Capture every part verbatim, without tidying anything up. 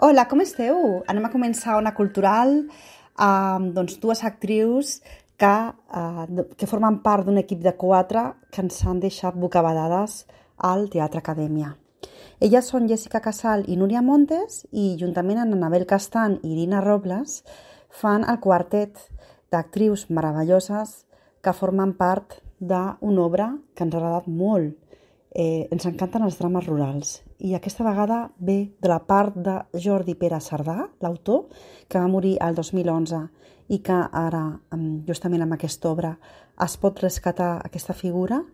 Hola, com esteu? Anem a començar una cultural amb doncs, dues actrius que, eh, que formen part d'un equip de quatre que ens han deixat bocabadades al Teatre Acadèmia. Elles són Jessica Casal i Núria Montes i juntament amb Anabel Castan i Irina Robles fan el quartet d'actrius meravelloses que formen part d'una obra que ens ha agradat molt. Eh, ens encanten els drames rurals i aquesta vegada ve de la part de Jordi Pere Cerdà, l'autor, que va morir el dos mil onze i que ara, justament amb aquesta obra, es pot rescatar aquesta figura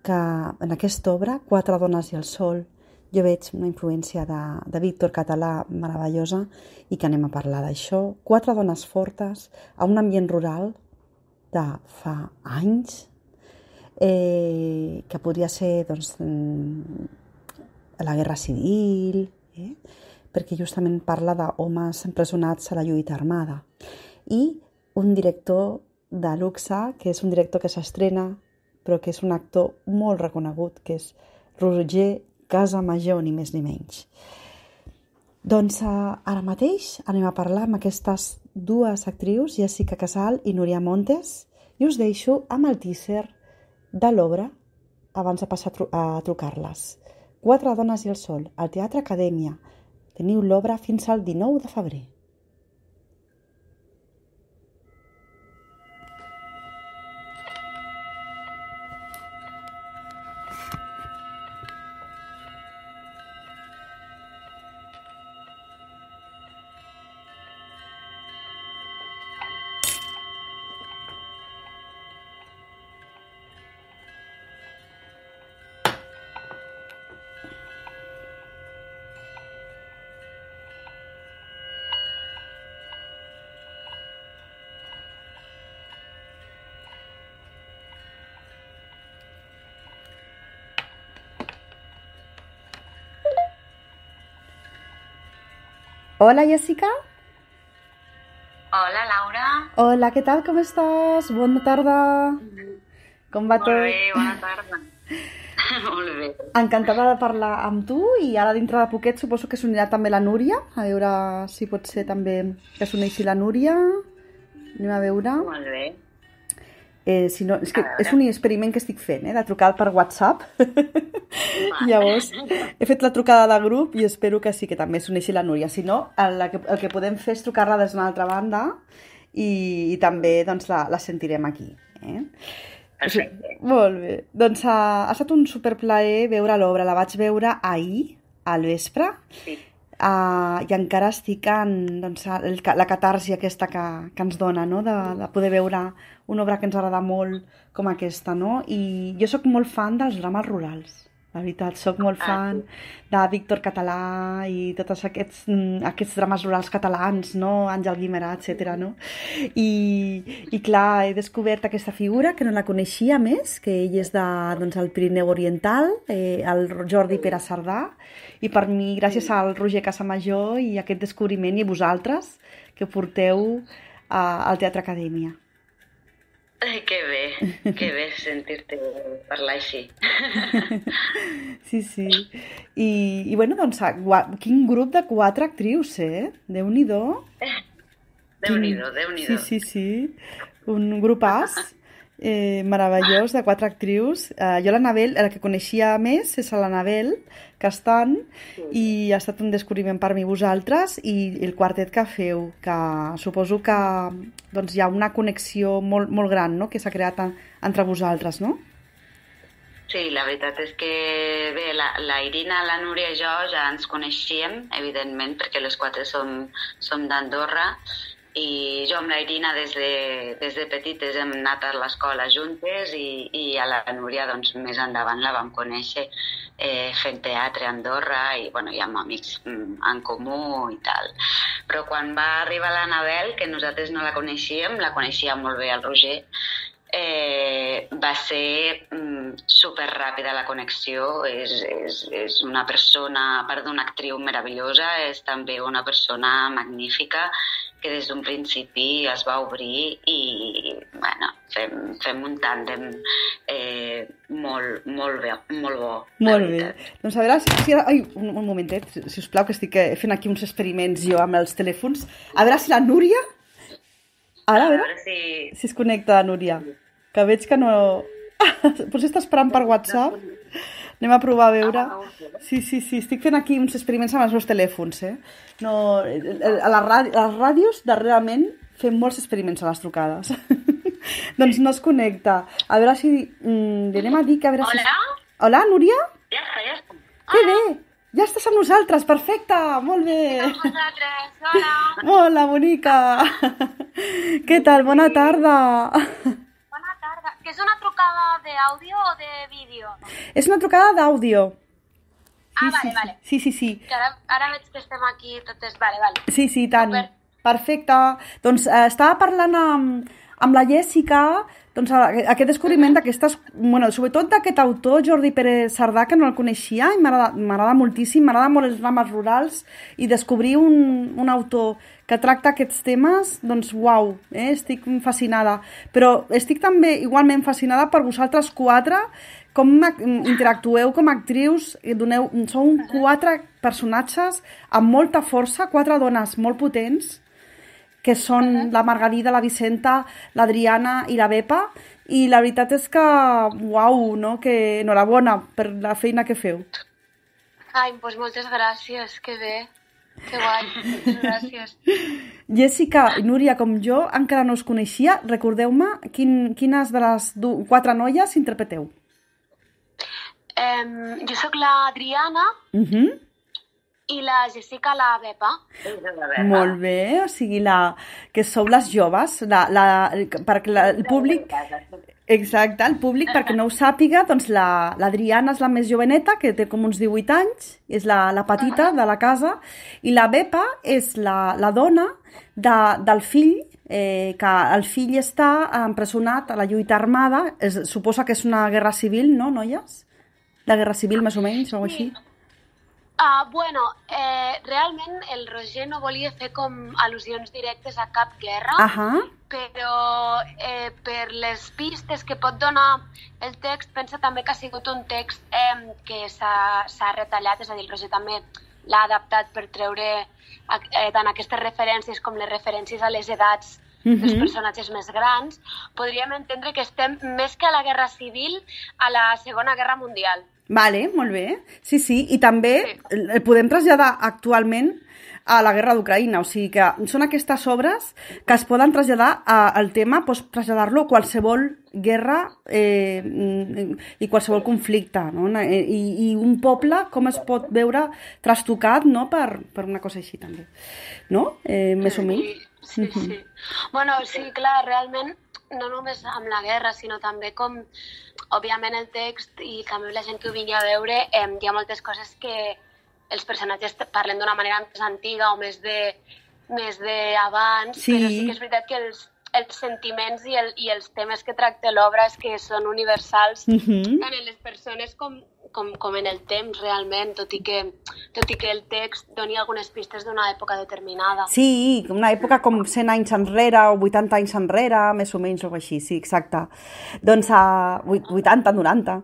que en aquesta obra, Quatre dones i el sol, jo veig una influència de, de Víctor Català meravellosa i que anem a parlar d'això. Quatre dones fortes a un ambient rural de fa anys, Eh, que podria ser doncs, la guerra civil, eh? perquè justament parla d'homes empresonats a la lluita armada. I un director de luxe, que és un director que s'estrena, però que és un actor molt reconegut, que és Roger Casamajó, ni més ni menys. Doncs uh, ara mateix anem a parlar amb aquestes dues actrius, Jessica Casal i Núria Montes, i us deixo amb el teaser de l'obra abans de passar a, tru- a trucar-les. Quatre dones i el sol, al Teatre Acadèmia. Teniu l'obra fins al dinou de febrer. Hola, Jessica. Hola, Laura. Hola, què tal? Com estàs? Bona tarda. Com va Molt tot? bé, bona tarda. Molt bé. Encantada de parlar amb tu i ara dintre de poquet suposo que s'unirà també la Núria, a veure si pot ser també que s'uneixi la Núria. Anem a veure. Molt bé. Eh, si no, és, que és un experiment que estic fent, eh, de trucar per WhatsApp. Llavors, he fet la trucada de grup i espero que sí, que també s'uneixi la Núria. Si no, el, el, que, el que podem fer és trucar-la des d'una altra banda i, i també doncs, la, la sentirem aquí. Eh? Perfecte. Molt bé. Doncs ha, ha estat un superplaer veure l'obra. La vaig veure ahir, al vespre. Sí. Uh, i encara estic en doncs, el, la catarsi aquesta que, que ens dona, no? de, de poder veure una obra que ens agrada molt com aquesta, no? I jo sóc molt fan dels drames rurals, la veritat, sóc molt fan de Víctor Català i tots aquests, aquests drames rurals catalans, no? Àngel Guimerà, etcètera, no? I, i clar, he descobert aquesta figura que no la coneixia més, que ell és de, doncs, el Pirineu Oriental, eh, el Jordi Pere Cerdà, i per mi, gràcies al Roger Casamajó i aquest descobriment, i a vosaltres, que porteu uh, al Teatre Acadèmia. Ai, que bé, que bé sentir-te parlar així. Sí, sí. I, i bueno, doncs, quin grup de quatre actrius, eh? Déu-n'hi-do. Déu-n'hi-do, Déu-n'hi-do. Sí, sí, sí. Un grupàs eh, meravellós de quatre actrius. Eh, jo l'Anabel, la que coneixia més és l'Anabel Castan, sí. I ha estat un descobriment per mi vosaltres i el quartet que feu, que suposo que doncs, hi ha una connexió molt, molt gran, no?, que s'ha creat en, entre vosaltres, no? Sí, la veritat és que bé, la, la Irina, la Núria i jo ja ens coneixíem, evidentment, perquè les quatre som, som d'Andorra, i jo amb la Irina des de, des de petites hem anat a l'escola juntes i, i a la Núria doncs, més endavant la vam conèixer eh, fent teatre a Andorra i bueno, hi ha amics en comú i tal. Però quan va arribar l'Anabel, que nosaltres no la coneixíem, la coneixia molt bé el Roger, eh, va ser mm, superràpida la connexió. És, és, és una persona, a part d'una actriu meravellosa, és també una persona magnífica que des d'un principi es va obrir i bueno, fem, fem un tàndem eh, molt, molt, bé, molt bo. Molt bé. Doncs a veure si... si ai, un, un momentet, si us plau, que estic fent aquí uns experiments jo amb els telèfons. A veure si la Núria... Ara, a veure, a veure si... si es connecta la Núria. Que veig que no... Potser està esperant per WhatsApp. Anem a provar a veure. Sí, sí, sí, estic fent aquí uns experiments amb els meus telèfons, eh? No, a les, ràdi les ràdios, darrerament, fem molts experiments a les trucades. Doncs no es connecta. A veure si... Mm, li anem a dir que a veure si... Hola? Hola, Núria? Ja està, ja està. Que bé! Ja estàs amb nosaltres, perfecte! Molt bé! Amb vosaltres, hola! Hola, bonica! Què tal? Bona tarda! Que és una trucada d'àudio o de vídeo? És una trucada d'àudio. Ah, sí, vale, sí, vale. Sí, sí, sí. Que ara, ara veig que estem aquí totes... Vale, vale. Sí, sí, tant. Super. Perfecte. Doncs eh, estava parlant amb, amb la Jèssica, doncs aquest descobriment d'aquestes... Bueno, sobretot d'aquest autor, Jordi Pérez Cerdà, que no el coneixia i m'agrada moltíssim, m'agrada molt els drames rurals i descobrir un, un autor que tracta aquests temes, doncs uau, eh? Estic fascinada. Però estic també igualment fascinada per vosaltres quatre, com interactueu com a actrius, doneu, sou quatre personatges amb molta força, quatre dones molt potents, que són uh -huh. la Margarida, la Vicenta, l'Adriana i la Bepa, i la veritat és que, uau, no? Que enhorabona per la feina que feu. Ai, doncs moltes gràcies, que bé. Que guai, moltes gràcies. Jèssica i Núria, com jo, encara no us coneixia. Recordeu-me quin, quines de les quatre noies interpreteu. Um, jo sóc l'Adriana uh -huh. i la Jessica la Bepa. Molt bé, o sigui, la, que sou les joves, la, la, perquè la, el públic... Exacte, el públic, perquè no ho sàpiga, doncs l'Adriana la, és la més joveneta, que té com uns divuit anys, és la, la petita de la casa, i la Bepa és la, la dona de, del fill, eh, que el fill està empresonat a la lluita armada, es, suposa que és una guerra civil, no, noies? La guerra civil, més o menys, o així? Uh, bueno, eh, realment el Roger no volia fer com al·lusions directes a cap guerra, uh -huh. però eh, per les pistes que pot donar el text, pensa també que ha sigut un text eh, que s'ha retallat, és a dir, el Roger també l'ha adaptat per treure eh, tant aquestes referències com les referències a les edats uh-huh. dels personatges més grans. Podríem entendre que estem més que a la Guerra Civil, a la Segona Guerra Mundial. Vale, molt bé. Sí, sí, i també sí. el podem traslladar actualment a la guerra d'Ucraïna, o sigui que són aquestes obres que es poden traslladar a, al tema, pots traslladar-lo a qualsevol guerra eh, i qualsevol conflicte, no? I, i un poble com es pot veure trastocat, no? per, per una cosa així també, no? Eh, més o menys. Sí, sí, sí. Bueno, sí, clar, realment no només amb la guerra, sinó també com, òbviament, el text i també la gent que ho vingui a veure, eh, hi ha moltes coses que els personatges parlen d'una manera més antiga o més de més d'abans, sí. Però sí que és veritat que els, els sentiments i, el, i els temes que tracta l'obra és que són universals, uh-huh. tant en les persones com, com, com en el temps, realment, tot i que, tot i que el text doni algunes pistes d'una època determinada. Sí, una època com cent anys enrere o vuitanta anys enrere, més o menys, o així, sí, exacte. Doncs a uh, vuitanta, noranta.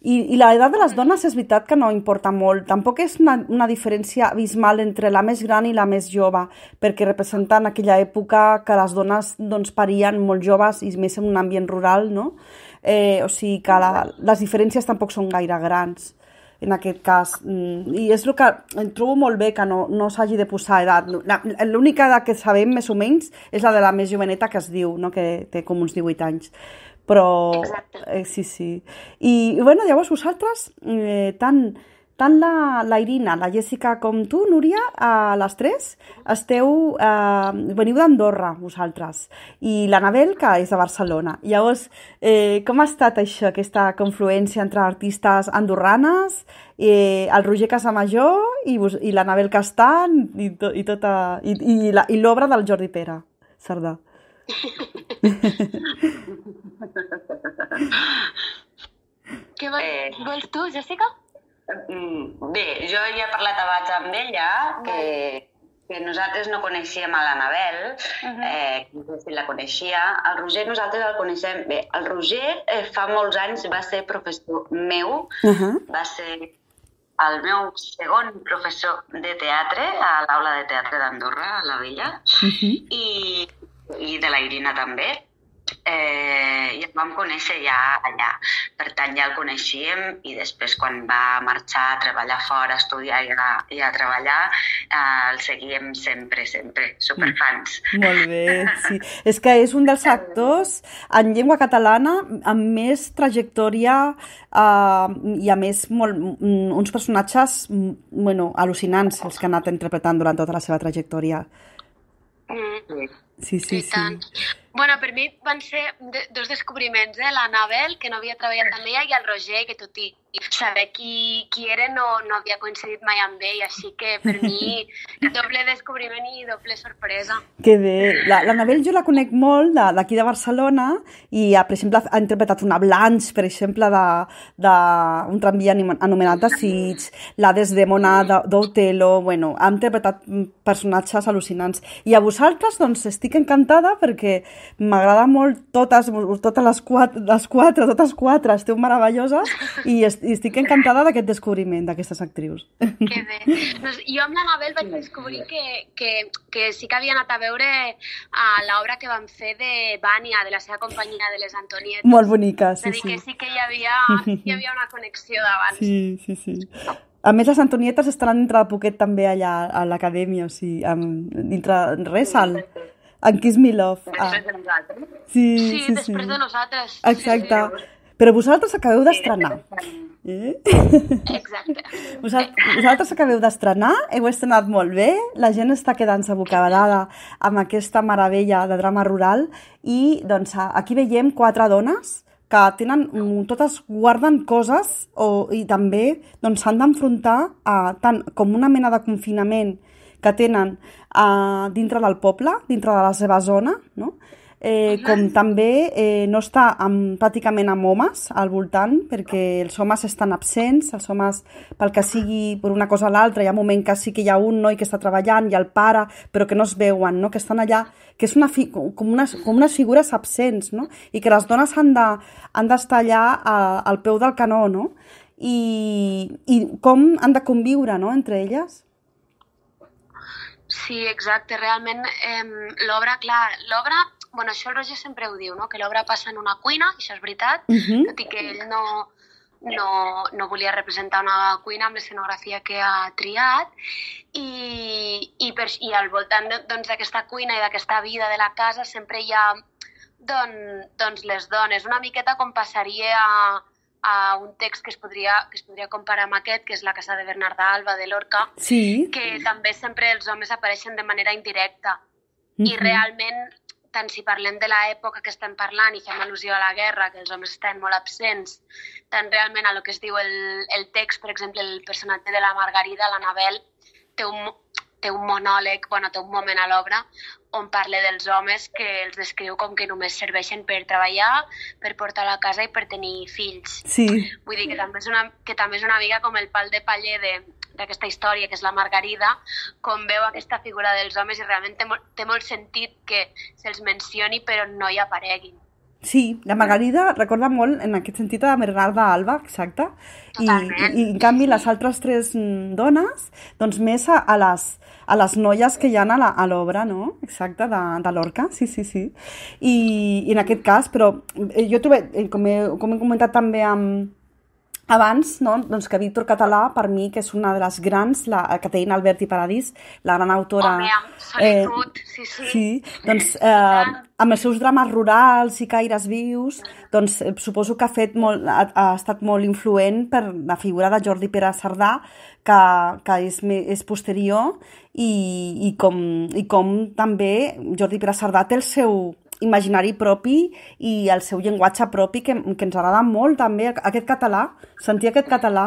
I, i l'edat de les dones és veritat que no importa molt. Tampoc és una, una diferència abismal entre la més gran i la més jove, perquè representen aquella època que les dones doncs, parien molt joves i més en un ambient rural, no? Eh, o sigui que la, les diferències tampoc són gaire grans en aquest cas. I és el que trobo molt bé, que no, no s'hagi de posar edat. L'única edat que sabem, més o menys, és la de la més joveneta, que es diu, no? Que té com uns divuit anys. Però... Eh, sí, sí. I, i bueno, llavors vosaltres, eh, tant, tant la, la Irina, la Jèssica com tu, Núria, a les tres, esteu, eh, veniu d'Andorra, vosaltres, i l'Anabel, que és de Barcelona. Llavors, eh, com ha estat això, aquesta confluència entre artistes andorranes, eh, el Roger Casamajor i, i l'Anabel Castan i, to, i, tota, i, i, la, i l'obra del Jordi Pere Cerdà? Què vols, eh... vols tu, Jèssica? Bé, jo ja he parlat abans amb ella, que, que nosaltres no coneixíem a l'Anabel, uh-huh. eh, que no sé si la coneixia. El Roger nosaltres el coneixem bé. El Roger eh, fa molts anys va ser professor meu, uh-huh. va ser el meu segon professor de teatre a l'Aula de Teatre d'Andorra, a la Vella, uh-huh. i, i de la Irina també. Eh, i el vam conèixer ja allà. Per tant, ja el coneixíem i després quan va marxar a treballar fora, a estudiar i a, i a treballar, eh, el seguíem sempre, sempre, superfans. Molt bé, sí. És que és un dels actors en llengua catalana amb més trajectòria eh, i a més molt, uns personatges bueno, al·lucinants els que ha anat interpretant durant tota la seva trajectòria. Mm. Sí, sí, sí. Bueno, per mi van ser de, dos descobriments, eh? L'Anabel, que no havia treballat amb ella, i el Roger, que tot i saber qui, qui era no, no havia coincidit mai amb ell, així que per mi doble descobriment i doble sorpresa. Que bé. L'Anabel jo la conec molt d'aquí de, de Barcelona i, per exemple, ha interpretat una Blanche, per exemple, d'un tramvia anomenat The Siege, la Desdemona d'Otelo, bueno, ha interpretat personatges al·lucinants. I a vosaltres, doncs, estic encantada perquè m'agrada molt totes, totes les quatre, les quatre, totes quatre, esteu meravelloses i, est, i estic encantada d'aquest descobriment d'aquestes actrius. Que bé. Doncs jo amb l'Anabel vaig descobrir que, que, que sí que havia anat a veure a l'obra que vam fer de Vània, de la seva companyia de les Antonietes. Molt bonica, sí, sí. És a dir, que sí que hi havia, hi havia una connexió d'abans. Sí, sí, sí. A més, les Antonietes estaran dintre de poquet també allà a l'acadèmia, o sigui, amb, dintre res, al... en Kiss Me Love. Després de nosaltres. Sí, sí, sí, després sí. de nosaltres. Exacte. Sí, sí. Però vosaltres acabeu d'estrenar. Eh? Exacte. Vosaltres acabeu d'estrenar, heu estrenat molt bé, la gent està quedant-se bocabadada amb aquesta meravella de drama rural i doncs, aquí veiem quatre dones que tenen, totes guarden coses o, i també doncs, s'han d'enfrontar a tant com una mena de confinament que tenen uh, dintre del poble, dintre de la seva zona, no? eh, com també eh, no està amb, pràcticament amb homes al voltant, perquè els homes estan absents, els homes, pel que sigui, per una cosa o l'altra, hi ha un moment que sí que hi ha un noi que està treballant i el pare, però que no es veuen, no? Que estan allà, que és una fi, com, unes, com unes figures absents, no? I que les dones han de, han d'estar allà a, al peu del canó, no? I, i com han de conviure, no?, entre elles. Sí, exacte. Realment, eh, l'obra, clar, l'obra... Bueno, això el Roger sempre ho diu, no?, que l'obra passa en una cuina, això és veritat, uh-huh. tot i que ell no, no, no volia representar una cuina amb l'escenografia que ha triat, i, i, per, i al voltant doncs, d'aquesta cuina i d'aquesta vida de la casa sempre hi ha doncs, doncs les dones. Una miqueta com passaria a, a un text que es, podria, que es podria comparar amb aquest, que és La casa de Bernarda Alba, de Lorca, sí. que també sempre els homes apareixen de manera indirecta. Uh-huh. I realment, tant si parlem de l'època que estem parlant i fem al·lusió a la guerra, que els homes estan molt absents, tant realment a lo que es diu el, el text, per exemple, el personatge de la Margarida, l'Anabel, té un, té un monòleg, bueno, té un moment a l'obra on parla dels homes que els descriu com que només serveixen per treballar, per portar a la casa i per tenir fills. Sí. Vull dir que també és una, que també és una mica com el pal de paller de, d'aquesta història, que és la Margarida, com veu aquesta figura dels homes i realment té molt, té molt sentit que se'ls mencioni però no hi apareguin. Sí, la Margarida recorda molt en aquest sentit a Bernarda Alba, exacte, i, i, i en canvi les altres tres dones, doncs més a, a, les, a les noies que hi ha a l'obra, no? Exacte, de, de Lorca, sí, sí, sí. I, i en aquest cas, però jo trobo, com he, com he comentat també amb abans, no? Doncs que Víctor Català, per mi, que és una de les grans, la Caterina Albert i Paradís, la gran autora... Home, amb solitud, eh, sí, sí. Sí, doncs eh, amb els seus drames rurals i caires vius, doncs eh, suposo que ha, fet molt, ha, ha estat molt influent per la figura de Jordi Pere Cerdà, que, que és, és posterior, i, i, com, i com també Jordi Pere Cerdà té el seu imaginari propi i el seu llenguatge propi que, que ens agrada molt també, aquest català, sentir aquest català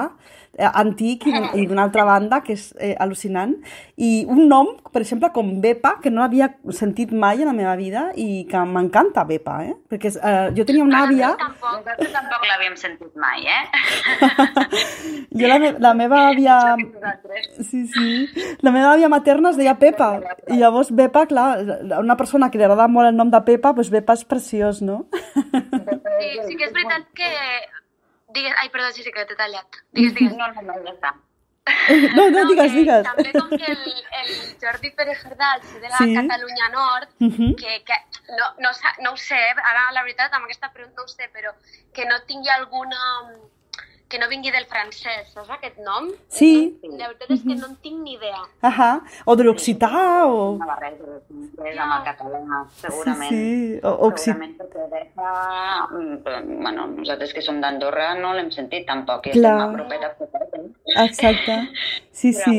eh, antic i, i d'una altra banda, que és eh, al·lucinant. I un nom, per exemple, com Bepa, que no l'havia sentit mai en la meva vida i que m'encanta Bepa, eh? Perquè eh, jo tenia una àvia... Tampoc, tampoc l'havíem sentit mai, eh? Jo la, me la meva àvia... Sí, sí. La meva àvia materna es deia Pepa. I llavors Bepa, clar, una persona que li agrada molt el nom de Pepa, doncs Bepa és preciós, no? Sí, sí que és veritat que... Digues... Ai, perdó, sí, sí que t'he tallat. Digues, digues. No, no, no, ja està. No, no, digues, digues. També com que el, el Jordi Pérez Herdal, de la sí. Catalunya Nord, uh -huh. que, que no, no, no ho sé, ara la veritat amb aquesta pregunta no ho sé, però que no tingui alguna... que no vingui del francès, saps aquest nom? Sí. La veritat és que no en tinc ni idea. Ahà, o de l'occità, o... Una barreja de francès amb el català, segurament. Sí, sí. O, occità. Segurament perquè Bepa, bueno, nosaltres que som d'Andorra no l'hem sentit tampoc, i Clar. estem a propet a propet, eh? Exacte, sí, però, sí.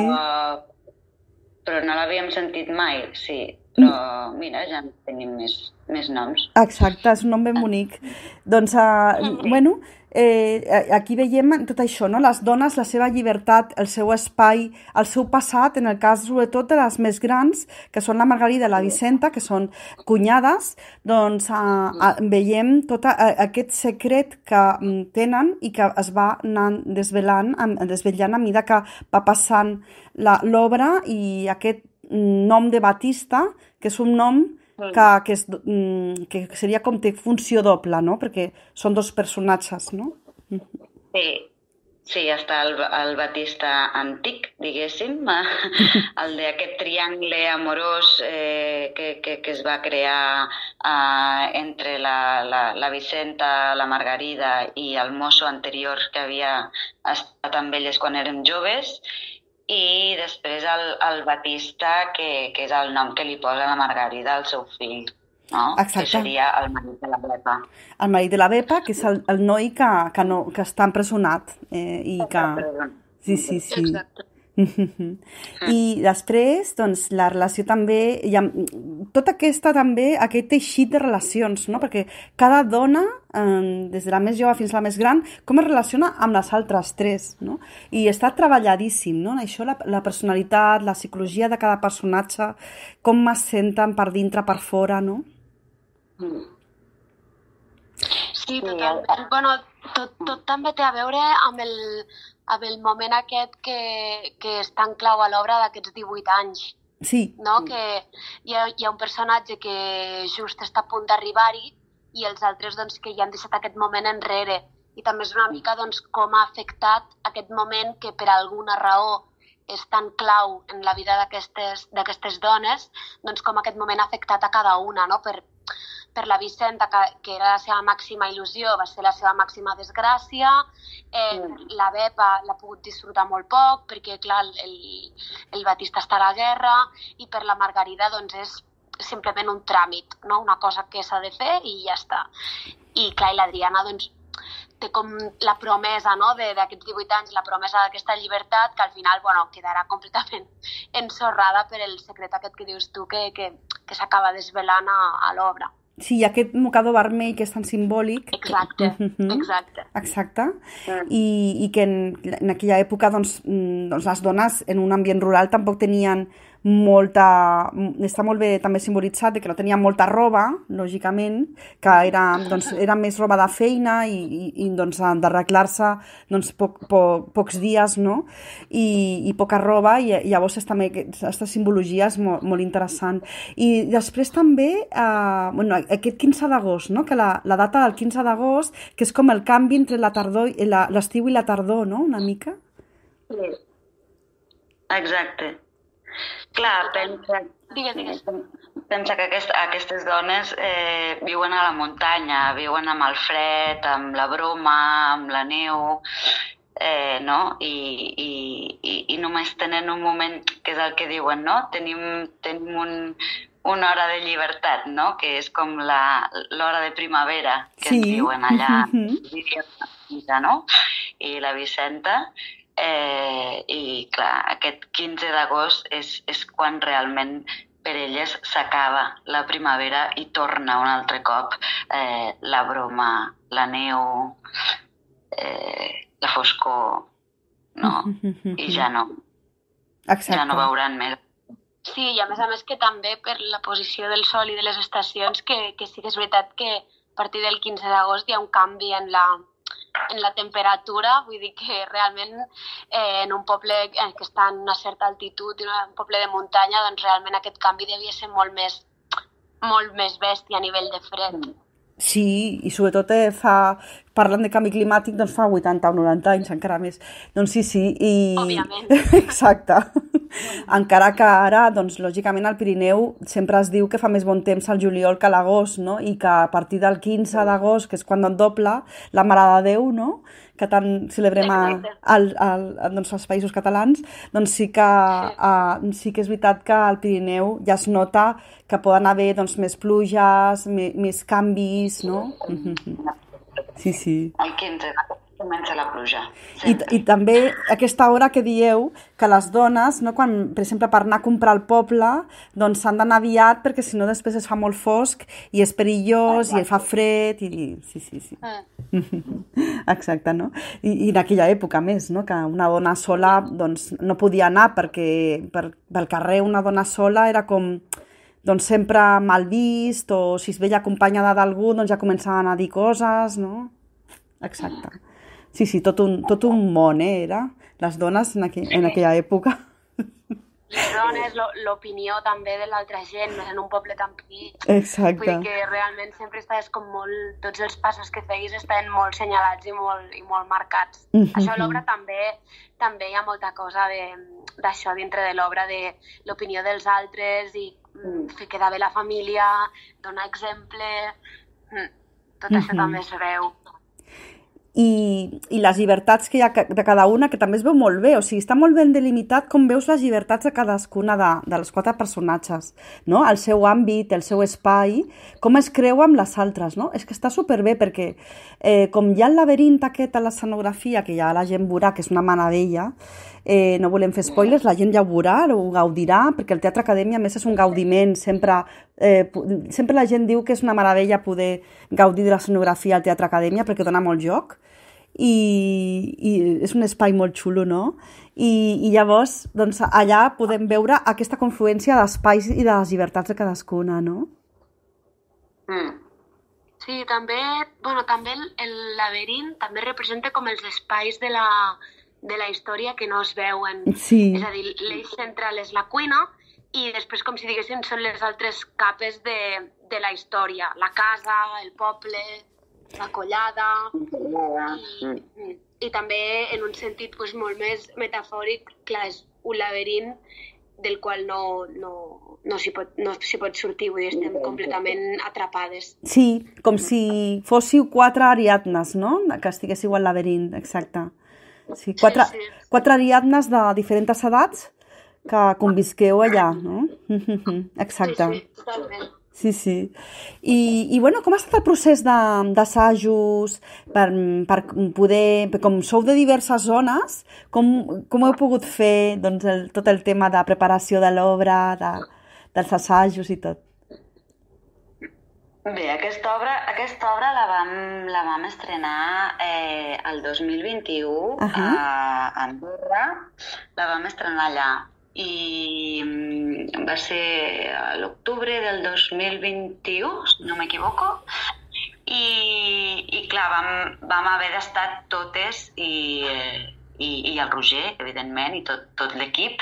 Però no l'havíem sentit mai, sí. Però, mira, ja tenim més, més noms. Exacte, és un nom ben bonic. Doncs, uh, bueno... Eh, aquí veiem tot això, no? Les dones, la seva llibertat, el seu espai, el seu passat, en el cas sobretot de les més grans, que són la Margarida i la Vicenta, que són cunyades, doncs eh, eh, veiem tot eh, aquest secret que tenen i que es va anar desvelant, desvetllant a mesura que va passant l'obra, i aquest nom de Batista, que és un nom Que, que, és, que seria com té funció doble, no? Perquè són dos personatges, no? Sí, sí, està el, el Batista antic, diguéssim, el d'aquest triangle amorós eh, que, que, que es va crear eh, entre la, la, la Vicenta, la Margarida i el mosso anterior que havia estat amb elles quan érem joves, i després el, el Batista, que, que és el nom que li posa la Margarida al seu fill, no? Exacte. Que seria el marit de la Bepa. El marit de la Bepa, que és el, el noi que, que, no, que està empresonat. Eh, i que... Sí, sí, sí. Exacte. I després, doncs, la relació també, hi ha, tota aquesta també, aquest teixit de relacions, no? Perquè cada dona, eh, des de la més jove fins a la més gran, com es relaciona amb les altres tres, no? I està treballadíssim, no? Això, la, la personalitat, la psicologia de cada personatge, com es senten per dintre, per fora, no? Sí, totalment. Bueno, tot, tot també té a veure amb el, amb el moment aquest que, que és tan clau a l'obra d'aquests divuit anys. Sí. No? Que hi ha, hi ha un personatge que just està a punt d'arribar-hi i els altres doncs, que ja han deixat aquest moment enrere. I també és una mica doncs, com ha afectat aquest moment que per alguna raó és tan clau en la vida d'aquestes dones, doncs com aquest moment ha afectat a cada una, no? Per, per la Vicenta, que, que era la seva màxima il·lusió, va ser la seva màxima desgràcia. Eh, mm. La Bepa l'ha pogut disfrutar molt poc, perquè, clar, el, el Batista està a la guerra, i per la Margarida, doncs, és simplement un tràmit, no? Una cosa que s'ha de fer i ja està. I, clar, i l'Adriana, doncs, té com la promesa, no?, d'aquests divuit anys, la promesa d'aquesta llibertat, que al final, bueno, quedarà completament ensorrada per el secret aquest que dius tu, que, que, que s'acaba desvelant a, a l'obra. Sí, aquest mocador vermell que és tan simbòlic. Exacte, uh-huh. exacte. Exacte. Mm. I, i que en, en aquella època doncs, doncs les dones en un ambient rural tampoc tenien molta... Està molt bé també simbolitzat que no tenia molta roba, lògicament, que era, doncs, era més roba de feina i, i, i doncs, d'arreglar-se doncs, poc, poc, pocs dies, no? I, i poca roba, i llavors és també aquesta simbologia és molt, molt interessant. I després també, eh, bueno, aquest quinze d'agost, no? Que la, la data del quinze d'agost, que és com el canvi entre la tardor, l'estiu i la tardor, no? Una mica? Sí. Exacte. Clar, pensa, digues, digues. pensa que aquest, aquestes dones eh, viuen a la muntanya, viuen amb el fred, amb la broma, amb la neu, eh, no? I, i, i, i només tenen un moment, que és el que diuen, no? Tenim, tenim un, una hora de llibertat, no? Que és com l'hora de primavera que sí. ens diuen allà, uh-huh. no? I la Vicenta... Eh, i clar, aquest quinze d'agost és, és quan realment per elles s'acaba la primavera i torna un altre cop eh, la broma, la neu, eh, la foscor, no? I ja no. Exacte. Ja no veuran més. Sí, i a més a més que també per la posició del sol i de les estacions, que, que sí que és veritat que a partir del quinze d'agost hi ha un canvi en la, en la temperatura, vull dir que realment eh, en un poble eh, que està en una certa altitud, en un poble de muntanya, doncs realment aquest canvi devia ser molt més, molt més bèstia a nivell de fred. Sí, i sobretot eh, fa, parlant de canvi climàtic, doncs fa vuitanta o noranta anys, encara més. Doncs sí, sí, i... Òbviament. Exacte. Encara que ara, doncs, lògicament, al Pirineu sempre es diu que fa més bon temps al juliol que a l'agost, no? I que a partir del quinze d'agost, que és quan dobla la Mare de Déu, no? Que tant celebrem a, al, al, doncs, als països catalans, doncs sí que, a, sí que és veritat que al Pirineu ja es nota que poden haver doncs, més pluges, més, més canvis, no? Sí, sí. El quinze comença la pluja. I, I també aquesta hora que dieu que les dones, no, quan, per exemple, per anar a comprar al poble, doncs s'han d'anar aviat perquè si no després es fa molt fosc i és perillós i fa fred i... Sí, sí, sí. Exacte, no? I, i en aquella època més, no? Que una dona sola doncs, no podia anar perquè per, pel carrer una dona sola era com... doncs sempre mal vist, o si es veia acompanyada d'algú, doncs ja començaven a dir coses, no? Exacte. Sí, sí, tot un, tot un món, eh, era? Les dones en, aqu en aquella època. Les dones, l'opinió també de l'altra gent, més en un poble tan petit. Exacte. Vull dir que realment sempre estaves com molt... Tots els passos que feis estaven molt senyalats i molt, i molt marcats. Mm-hmm. Això a l'obra també, també hi ha molta cosa d'això dintre de l'obra, de l'opinió dels altres i fer quedar bé la família, donar exemple... Tot això mm-hmm. també es veu. I, i les llibertats que hi ha de cada una, que també es veu molt bé, o sigui, està molt ben delimitat com veus les llibertats de cadascuna de, de les quatre personatges, no? El seu àmbit, el seu espai, com es creu amb les altres, no? És que està superbé perquè eh, com hi ha el laberint aquest a l'escenografia, que ja la gent veurà, que és una meravella, eh, no volem fer spoilers, la gent ja ho veurà, ho gaudirà, perquè el Teatre Acadèmia a més és un gaudiment, sempre, eh, sempre la gent diu que és una meravella poder gaudir de l'escenografia al Teatre Acadèmia perquè dona molt joc, i, i és un espai molt xulo, no? I, i llavors, doncs, allà podem veure aquesta confluència d'espais i de les llibertats de cadascuna, no? Mm. Sí, també, bueno, també el, el laberint també representa com els espais de la, de la història que no es veuen. Sí. És a dir, l'eix central és la cuina i després, com si diguéssim, són les altres capes de, de la història. La casa, el poble, la collada, i, i també en un sentit pues, molt més metafòric, clar, és un laberint del qual no, no, no s'hi pot, no s'hi pot sortir, vull dir, estem completament atrapades. Sí, com si fóssiu quatre Ariadnes, no? Que estiguéssiu al laberint, exacte. Sí, quatre, sí, sí. quatre Ariadnes de diferents edats que convisqueu allà, no? Exacte. Sí, sí, totalment. Sí, sí. I, i bueno, com ha estat el procés d'assajos per, per poder, com sou de diverses zones, com, com heu pogut fer doncs, el, tot el tema de preparació de l'obra, de, dels assajos i tot? Bé, aquesta obra, aquesta obra la vam, la vam estrenar eh, el dos mil vint-i-u uh -huh. a Andorra, la vam estrenar allà. I va ser a l'octubre del dos mil vint-i-u, si no m'equivoco, i, i clar, vam, vam haver d'estar totes i, i, i el Roger, evidentment, i tot, tot l'equip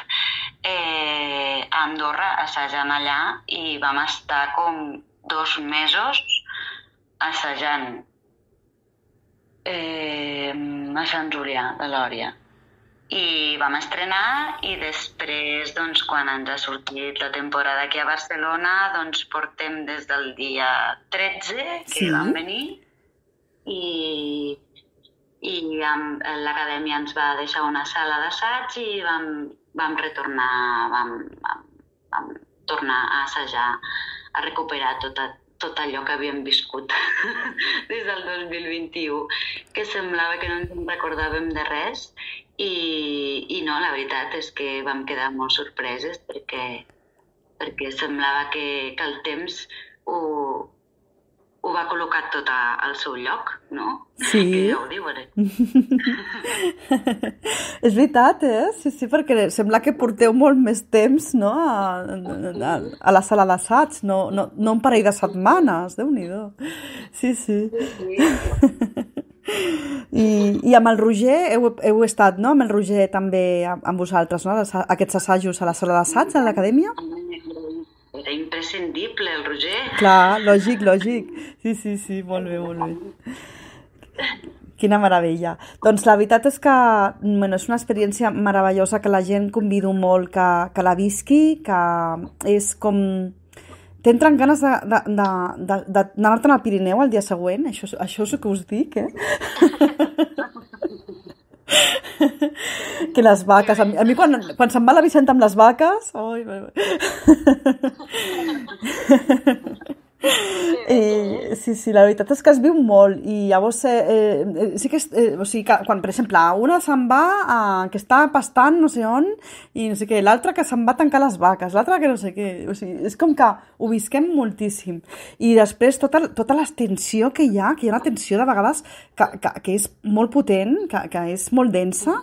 eh, a Andorra assajant allà i vam estar com dos mesos assajant eh, a Sant Julià de Lòria. I vam estrenar i després, doncs, quan ens ha sortit la temporada aquí a Barcelona, doncs portem des del dia tretze que sí. vam venir i, i l'acadèmia ens va deixar una sala d'assaig i vam, vam retornar, vam, vam, vam tornar a assajar, a recuperar tot, a, tot allò que havíem viscut des del dos mil vint-i-u, que semblava que no ens en recordàvem de res. I, i no, la veritat és que vam quedar molt sorpreses perquè, perquè semblava que, que el temps ho, ho va col·locar col·locat tot al seu lloc, no? Sí. Que ja ho diuen. És veritat, eh? Sí, sí, perquè sembla que porteu molt més temps, no?, a, a, a la sala d'assaig, no, no, no un parell de setmanes, Déu-n'hi-do. Sí, sí. I, I amb el Roger heu, heu estat, no?, amb el Roger també amb vosaltres, no?, aquests assajos a la sala d'assaig, a l'acadèmia? Era imprescindible, el Roger. Clar, lògic, lògic. Sí, sí, sí, molt bé, molt bé. Quina meravella. Doncs la veritat és que bueno, és una experiència meravellosa que la gent convido molt que, que la visqui, que és com... T'entren ganes d'anar-te'n al Pirineu el dia següent, això, això és el que us dic, eh? Que les vaques, a mi, a mi quan, quan se'n va la Vicenta amb les vaques, oi, eh, sí, sí, la veritat és que es viu molt i llavors eh, eh, sí que, eh, o sigui, que quan, per exemple, una se'n va a, que està pastant no sé on i no sé què, l'altra que se'n va a tancar les vaques, l'altra que no sé què, o sigui, és com que ho visquem moltíssim i després tota, tota la tensió que hi ha, que hi ha una tensió de vegades que, que, que és molt potent, que, que és molt densa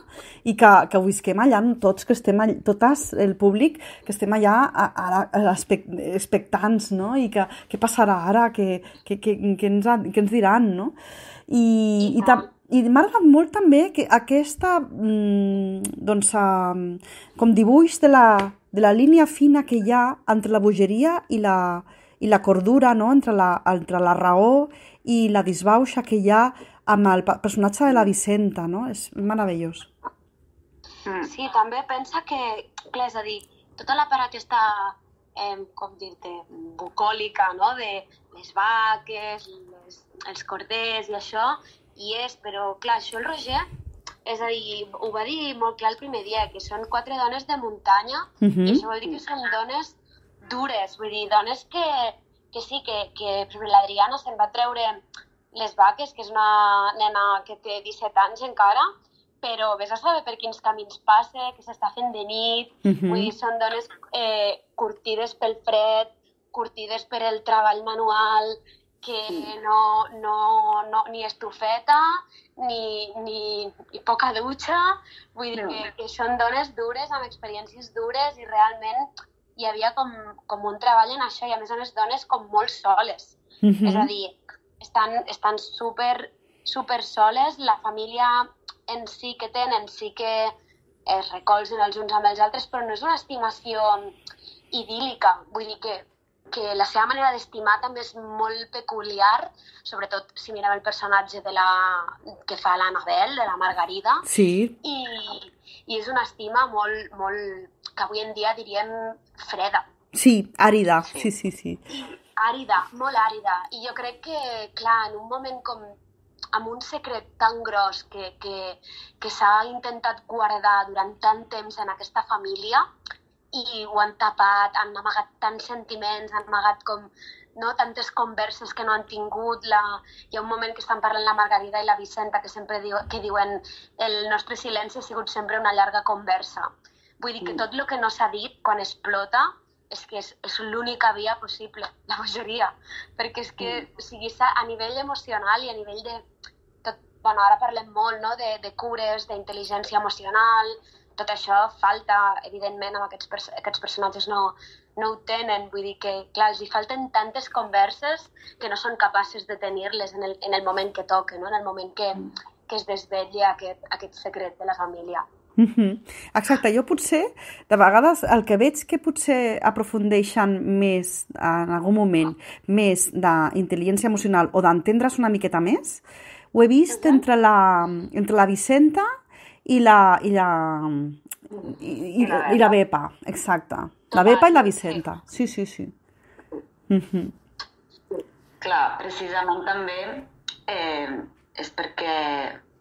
i que, que ho visquem allà tots, que estem allà, totes, el públic, que estem allà a, a, a expectants, no? I que, que passarà ara, que, que, que, que, ens, que ens diran, no? I, i, tam, i m'ha agradat molt també que aquesta, doncs, com dibuix de la, de la línia fina que hi ha entre la bogeria i la, i la cordura, no? Entre la, entre la raó i la disbauxa que hi ha amb el personatge de la Vicenta, no? És meravellós. Sí, també pensa que, clar, és a dir, tota la part aquesta, eh, com dir-te, bucòlica, no?, de les vaques, les, els corders i això, hi és, però, clar, això el Roger, és a dir, ho va dir molt clar el primer dia, que són quatre dones de muntanya, uh-huh. I això vol dir que són dones dures, vull dir, dones que, que sí, que, que per exemple, l'Adriana se'n va treure les vaques, que és una nena que té disset anys encara, però vés a saber per quins camins passa, que s'està fent de nit, uh-huh. Vull dir, són dones eh, curtides pel fred, curtides per el treball manual, que no, no, no, ni estufeta, ni, ni, ni poca dutxa, vull dir que, que són dones dures, amb experiències dures, i realment hi havia com, com un treball en això, i a més a més dones com molt soles. Uh-huh. És a dir, estan, estan super, super soles, la família en si que tenen, sí que es recolzen els uns amb els altres, però no és una estimació idíl·lica. Vull dir que, que la seva manera d'estimar també és molt peculiar, sobretot si mirem el personatge de la, que fa l'Anabel, de la Margarida. Sí. I, i és una estima molt, molt, que avui en dia diríem freda. Sí, àrida, sí, sí, sí. Àrida, molt àrida. I jo crec que, clar, en un moment com amb un secret tan gros que, que, que s'ha intentat guardar durant tant temps en aquesta família i ho han tapat, han amagat tants sentiments, han amagat com, no, tantes converses que no han tingut. La... Hi ha un moment que estan parlant la Margarida i la Vicenta que sempre diu, que diuen el nostre silenci ha sigut sempre una llarga conversa. Vull dir que tot el que no s'ha dit quan explota és que és, és l'única via possible, la bogeria, perquè és que o sigui, a nivell emocional i a nivell de... Tot, bueno, ara parlem molt, no?, de, de cures, d'intel·ligència emocional, tot això falta, evidentment, amb aquests, pers aquests personatges no, no ho tenen, vull dir que, clar, els hi falten tantes converses que no són capaces de tenir-les en, el, en el moment que toca, no?, en el moment que, que es desvetlla aquest, aquest secret de la família. Uh-huh. Exacte, jo potser, de vegades, el que veig que potser aprofundeixen més, en algun moment, més d'intel·ligència emocional o d'entendre's una miqueta més, ho he vist uh-huh. entre, la, entre la Vicenta i la, i la, i, i, i la Bepa, exacte. La Bepa i la Vicenta, sí, sí, sí. Uh-huh. Clar, precisament també eh, és perquè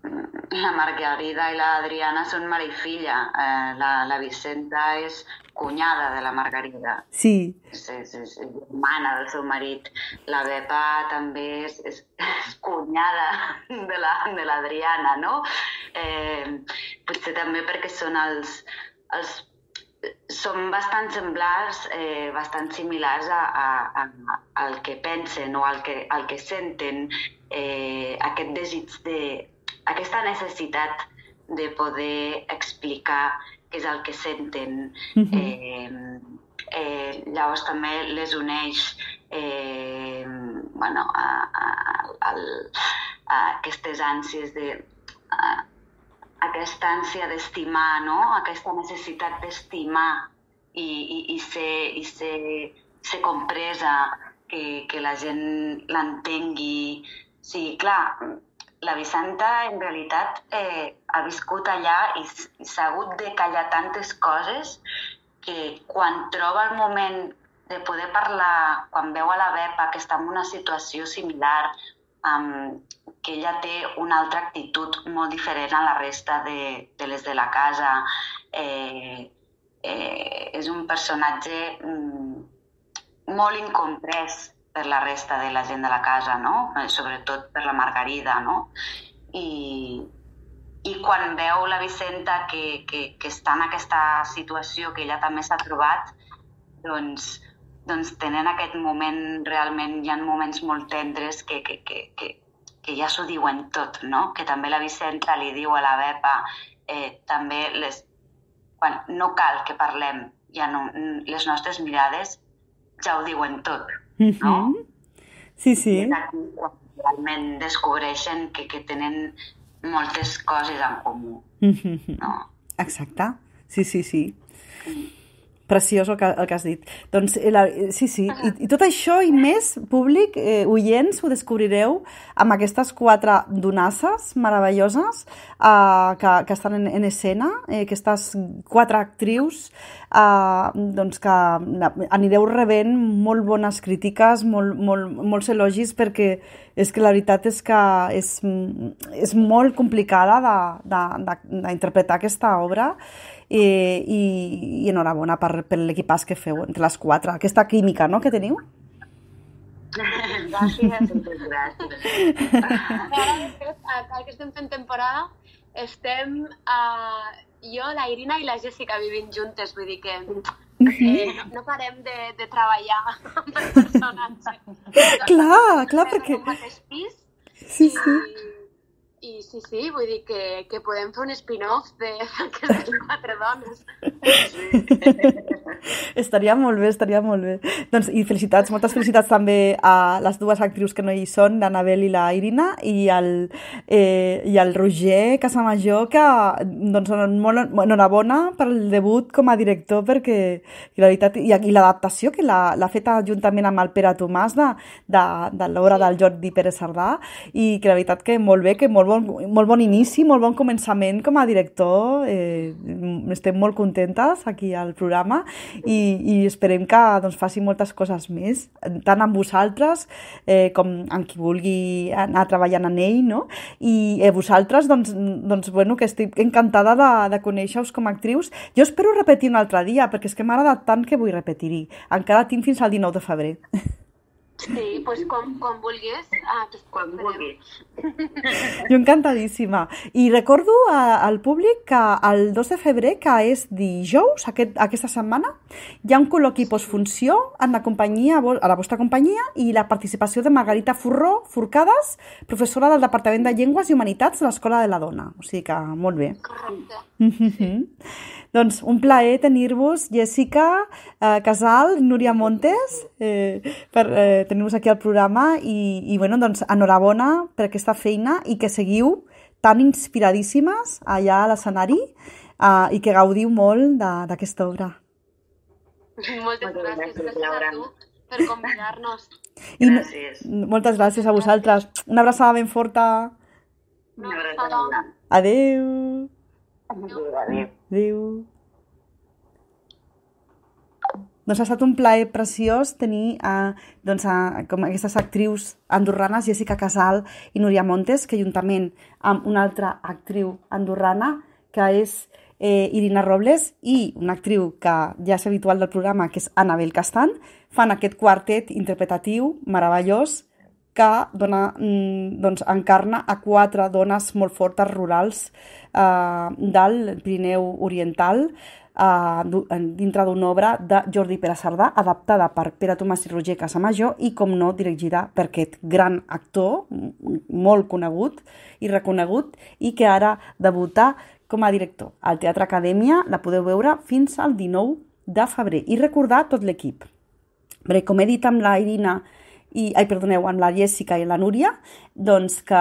la Margarida i l'Adriana són mare i filla. Eh, la, la Vicenta és cunyada de la Margarida. Sí. És, és, és germana del seu marit. La Bepa també és, és, és cunyada de l'Adriana, no? Eh, potser també perquè són els, els són bastant semblars, eh, bastant similars a, a, a, al que pensen o al que, al que senten, eh, aquest desig de... aquesta necessitat de poder explicar què és el que senten. Uh-huh. eh, eh, llavors també les uneix eh, bueno, a, a, a, a aquestes ànsies de... A, aquesta ànsia d'estimar, no? Aquesta necessitat d'estimar i, i, i, ser, i ser, ser compresa, que, que la gent l'entengui. Sí, clar, la Vicenta en realitat eh, ha viscut allà i, i s'ha hagut de callar tantes coses que quan troba el moment de poder parlar, quan veu a la Bepa que està en una situació similar, Um, que ella té una altra actitud molt diferent a la resta de, de les de la casa. Eh, eh, és un personatge mm, molt incomprès per la resta de la gent de la casa, no? Eh, sobretot per la Margarida, no? I, i quan veu la Vicenta que, que, que està en aquesta situació que ella també s'ha trobat, doncs doncs tenen aquest moment, realment hi ha moments molt tendres que, que, que, que, que ja s'ho diuen tot, no? Que també la Vicenta li diu a la Bepa, eh, també les, quan no cal que parlem, ja no, les nostres mirades ja ho diuen tot, no? Mm-hmm. Sí, sí. I és aquí quan realment descobreixen que, que tenen moltes coses en comú, mm-hmm. no? Exacte, sí, sí, sí. Mm. Preciós el que, el que has dit. Doncs, la, sí, sí, I, i tot això i més, públic, eh, oients, ho descobrireu amb aquestes quatre donasses meravelloses eh, que, que estan en, en escena, eh, aquestes quatre actrius, eh, doncs que anireu rebent molt bones crítiques, molt, molt, molts elogis, perquè és que la veritat és que és, és molt complicada d'interpretar aquesta obra. I, i, i enhorabona per, per l'equipàs que feu entre les quatre, aquesta química, no?, que teniu. Gràcies, gràcies. Ara, que estem fent temporada, estem uh, jo, la Irina i la Jessica vivint juntes, vull dir que eh, no, no parem de, de treballar amb el personatge. Clar, clar, perquè... Som al mateix pis. Sí, sí. I... I sí, sí, vull dir que, que podem fer un spin-off d'aquestes quatre dones. Estaria molt bé, estaria molt bé. Doncs, i felicitats, moltes felicitats també a les dues actrius que no hi són, l'Anabel i la Irina, i el, eh, i el Roger Casamajor, que doncs, molt enhorabona per el debut com a director, perquè i la veritat, i, i l'adaptació que l'ha feta juntament amb el Pere Tomàs de, de, de l'obra del Jordi Pérez Sardà, i que la veritat que molt bé, que molt bon, molt bon inici, molt bon començament com a director. Eh, estem molt contentes aquí al programa i, i esperem que doncs, faci moltes coses més, tant amb vosaltres eh, com amb qui vulgui anar treballant en ell, no? I eh, vosaltres, doncs, doncs, bueno, que estic encantada de, de conèixer-vos com a actrius. Jo espero repetir un altre dia, perquè és que m'ha agradat tant que vull repetir-hi. Encara tinc fins al dinou de febrer. Sí, doncs quan, quan vulguis. Ah, quan vulguis. Jo encantadíssima. I recordo a, al públic que el dos de febrer, que és dijous, aquest, aquesta setmana, hi ha un col·loqui postfunció en la companyia, a la vostra companyia, i la participació de Margarita Forró Forcades, professora del Departament de Llengües i Humanitats de l'Escola de la Dona. O sigui que molt bé. Correcte. Mm-hmm. Doncs un plaer tenir-vos, Jessica eh, Casal, Núria Montes, eh, per eh, tenir-vos aquí al programa i, i bueno, doncs, enhorabona per aquesta feina i que seguiu tan inspiradíssimes allà a l'escenari eh, i que gaudiu molt d'aquesta obra. Moltes gràcies, gràcies a tu per convidar-nos. I gràcies. Moltes gràcies a vosaltres. Una abraçada ben forta. Una abraçada. Adéu. Adéu. Adéu. Adéu. Doncs ha estat un plaer preciós tenir eh, doncs, a, com aquestes actrius andorranes, Jessica Casal i Núria Montes, que juntament amb una altra actriu andorrana, que és eh, Irina Robles, i una actriu que ja és habitual del programa, que és Anabel Castan, fan aquest quartet interpretatiu meravellós que dona, doncs, encarna a quatre dones molt fortes rurals eh, del Pirineu Oriental, uh, dintre d'una obra de Jordi Pere Cerdà, adaptada per Pere Tomàs i Roger Casamajor i, com no, dirigida per aquest gran actor, molt conegut i reconegut, i que ara debuta com a director. Al Teatre Acadèmia la podeu veure fins al dinou de febrer. I recordar tot l'equip. Perquè, com he dit amb la Irina i, ai, perdoneu, amb la Jessica i la Núria, doncs que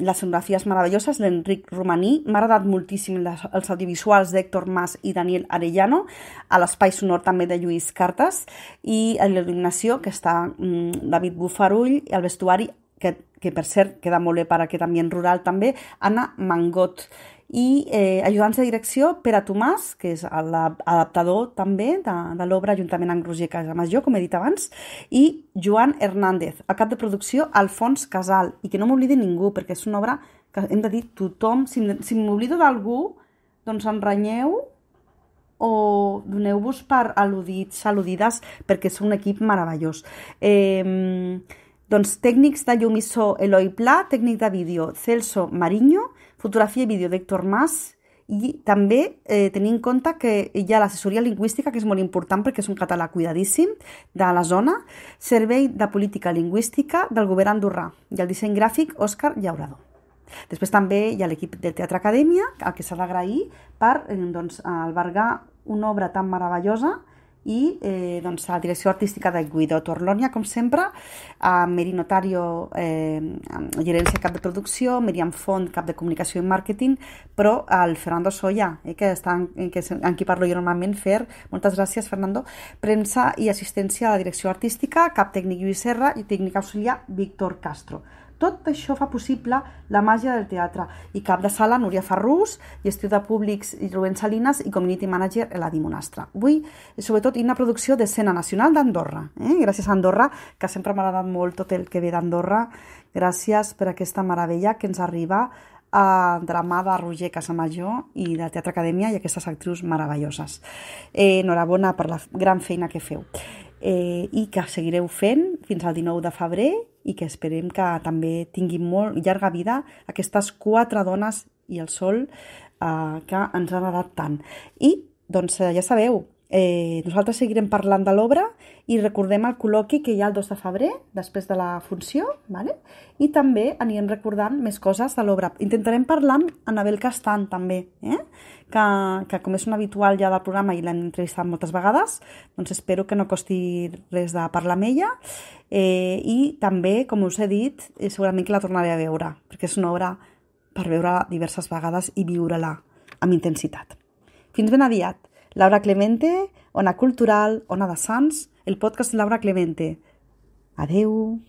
les escenografies meravelloses, l'Enric Romaní, m'ha agradat moltíssim les, els audiovisuals d'Héctor Mas i Daniel Arellano, a l'espai sonor també de Lluís Cartes, i a l'il·luminació, que està mm, David Bufarull, i el vestuari, que, que per cert queda molt bé per aquest ambient rural també, Anna Mangot. I eh, ajudants de direcció, Pere Tomàs, que és l'adaptador també de, de l'obra, juntament amb Roger Casamajor, com he dit abans, i Joan Hernández, el cap de producció, Alfons Casal, i que no m'oblidi ningú, perquè és una obra que hem de dir tothom, si, si m'oblido d'algú, doncs em renyeu o doneu-vos per al·ludits, al·ludides, perquè és un equip meravellós. Eh, doncs tècnics de llum i so, Eloi Pla, tècnic de vídeo, Celso Mariño, fotografia i vídeo d'Héctor Mas, i també eh, tenir en compte que hi ha l'assessoria lingüística, que és molt important perquè és un català cuidadíssim de la zona, servei de política lingüística del govern andorrà i el disseny gràfic Òscar Llaurador. Després també hi ha l'equip del Teatre Acadèmia, al que s'ha d'agrair per eh, doncs, albergar una obra tan meravellosa, i eh, doncs, a la direcció artística de Guido Torlonia, com sempre, a Meri Notario, eh, gerència cap de producció, Miriam Font, cap de comunicació i màrqueting, però al Fernando Soya, eh, que està en, que, en qui parlo jo normalment, Fer, moltes gràcies, Fernando, premsa i assistència a la direcció artística, cap tècnic Lluís Serra i tècnic auxiliar Víctor Castro. Tot això fa possible la màgia del teatre. I cap de sala, Núria Ferrús, gestió de públics i Rubén Salinas i community manager Eladi Monastre. Avui, sobretot, una producció d'Escena Nacional d'Andorra. Eh? Gràcies a Andorra, que sempre m'ha agradat molt tot el que ve d'Andorra. Gràcies per aquesta meravella que ens arriba a, de la mà de Roger Casamajor i del Teatre Acadèmia i aquestes actrius meravelloses. Eh, enhorabona per la gran feina que feu. Eh, i que seguireu fent fins al dinou de febrer i que esperem que també tinguin molt llarga vida aquestes quatre dones i el sol eh, que ens han agradat tant. I, doncs, ja sabeu, eh, nosaltres seguirem parlant de l'obra i recordem el col·loqui que hi ha el dos de febrer, després de la funció, vale? I també anirem recordant més coses de l'obra. Intentarem parlar amb Anabel Castan, també, eh? que, que com és un habitual ja del programa i l'hem entrevistat moltes vegades, doncs espero que no costi res de parlar amb ella. Eh, I també, com us he dit, eh, segurament que la tornaré a veure, perquè és una obra per veure diverses vegades i viure-la amb intensitat. Fins ben aviat. Laura Clemente, Ona Cultural, Ona de Sants, el podcast de Laura Clemente. Adeu.